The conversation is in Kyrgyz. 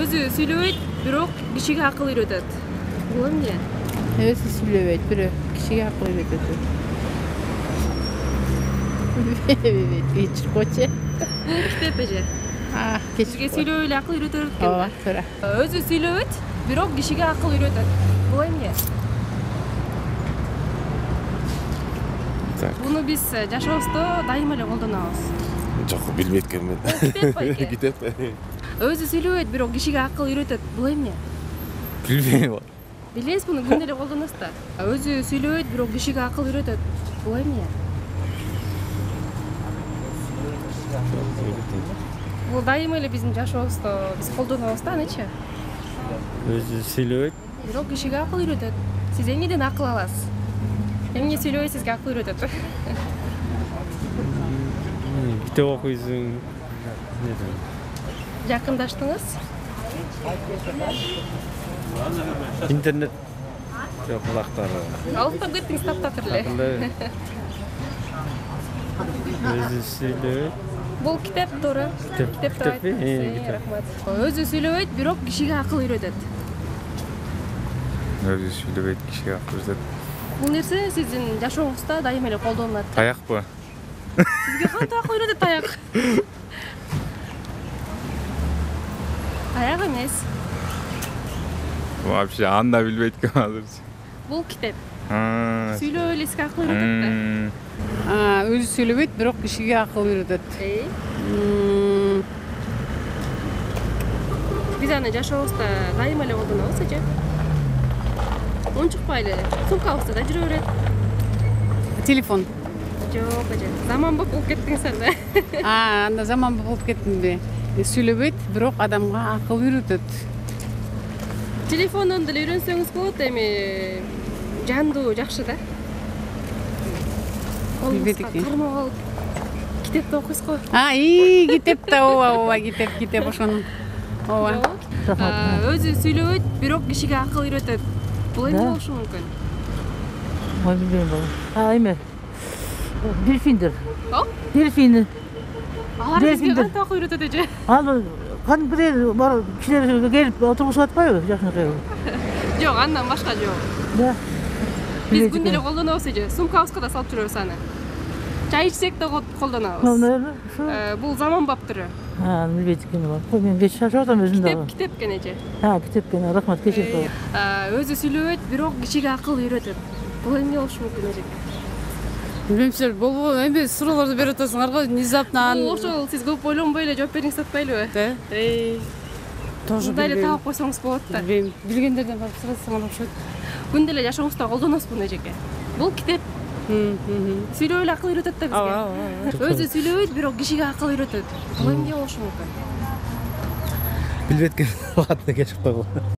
Өзү сүйлөбөйт, бирок кишиге акыл үйрөтөт. Бул эмне? Өзү сүйлөбөйт, бирок кишиге акыл үйрөтөт. Кечиркочу. Китеп эже. Кишиге сүйлөп эле акыл үйрөтөр экен. Ооба, туура. Өзү сүйлөбөйт, бирок кишиге акыл үйрөтөт. Бул эмне? Буну биз жашообузда дайыма эле колдонобуз. Жок, билбейт экенмин. Китеп байке. Китеп. Өзү сүйлөбөйт, бирок кишиге акыл үйрөтөт. Бул эмне? Билбейм. Билесиз, муну күндө эле колдоносуз да. Өзү сүйлөбөйт, бирок кишиге акыл үйрөтөт. Бул эмне? Бул дайыма эле биздин жашообузда биз колдонобуз да, анычы? Өзү сүйлөбөйт. Бирок кишиге акыл үйрөтөт. Сиз эмнеден акыл аласыз? Эмне сүйлөбөй сизге акыл үйрөтөт? Китеп окуйсуң. Жакындаштыңыз? Интернет жок булактары. Алыктап кеттиңиз таптакыр эле. Өзү сүйлөбөйт. Бул китеп туура. Китеп. Рахмат. Өзү сүйлөбөйт, бирок кишиге акыл үйрөтөт. Өзү сүйлөбөйт, кишиге акыл үйрөтөт. Бул нерсе сиздин жашооңузда дайыма эле колдонулат. Таякпы? Сизге кантип акыл үйрөтөт таяк? Таяк эмес. Вообще аны да билбейт экенмин азырчы. Бул китеп. Сүйлөп эле сизге акыл үйрөтөт да. Өзү сүйлөбөйт, бирок кишиге акыл үйрөтөт. Биз аны жашообузда дайыма эле колдонобуз эже. Унчукпайлы, сумкабызда да жүрө берет. Телефон. Жок эже, заманбап болуп кеттиңиз анда. Анда заманбап болуп кеттимби? Сүйлөбөйт, бирок адамга акыл үйрөтөт. Телефондон деле үйрөнсөңүз болот, эми жандуу жакшы да. Билбейт экен. Кармап алып китепти окуйсуз го. Китеп да, ооба, китеп ошону. Ооба. Өзү сүйлөбөйт, бирок кишиге акыл үйрөтөт. Бул эмне болушу мүмкүн? Ой, билбейм бала. Эме. Дельфиндер. Дельфин. Алар бизге кантип акыл үйрөтөт эже? Ал кадимкидей бар кишилер келип отургузуп атпайбы жакынкы? Жок, андан башка жок. Да. Биз күндө эле колдонобуз эже. Сумкабызга да салып жүрөбүз аны. Чай ичсек да колдонобуз. Бул заманбап түрү. Билбейт экенмин. Кой, мен кеч шашып атам өзүм дагы. Китеп экен эже. Китеп экен. Рахмат, кечирип коюңуз. Өзү сүйлөбөйт, бирок кишиге акыл үйрөтөт. Бул эмне болушу мүмкүн эже? Билбейм, силер болбу эми суроолорду берип атасыңар го, внезапно. Ошол сиз көп ойлонбой эле жооп бериңиз атпайлыбы? Тоже мындай эле таап койсоңуз болот да. Билбейм, билгендерден барып сурасаңар окшойт. Күндө эле жашообузда колдоносуз буну эжеке. Бул китеп. Сүйлөп эле акыл үйрөтөт да бизге. Өзү сүйлөбөйт, бирок кишиге акыл үйрөтөт. Бул эмне болушу мүмкүн? Билбейт экен. Катына кечип койгон.